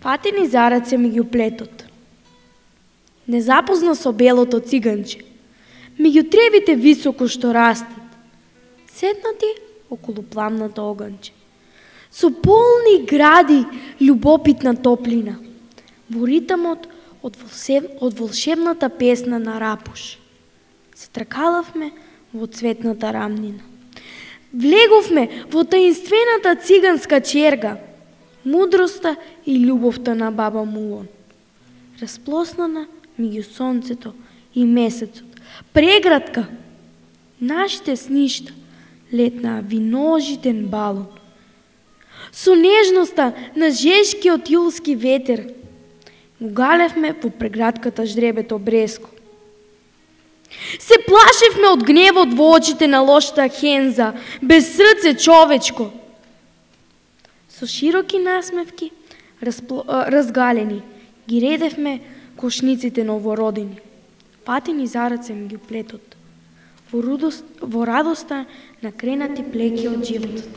Патени за раце ми ги уплетот. Незапозна со белото циганче, меѓу тревите високо што растат, седнати околу пламното оганче. Со полни гради љубопитна топлина, во ритамот од волшебната песна на Рапуш. Се тркалавме во цветната рамнина. Влеговме во таинствената циганска черга, мудроста и љубовта на баба Мулон. Расплоснана меѓу сонцето и месецот, прегратка, нашите сништа летнаа виножитен балон. Со нежноста на жешкиот јулски ветер го галевме во прегратката ждребето бреско. Се плашевме од гневот во очите на лошата Хенза, без срце човечко. Со широки насмевки, разгалени, ги редевме кошниците новородени. Патени за раце ми ги уплетот, во радоста на кренати плеки од животот.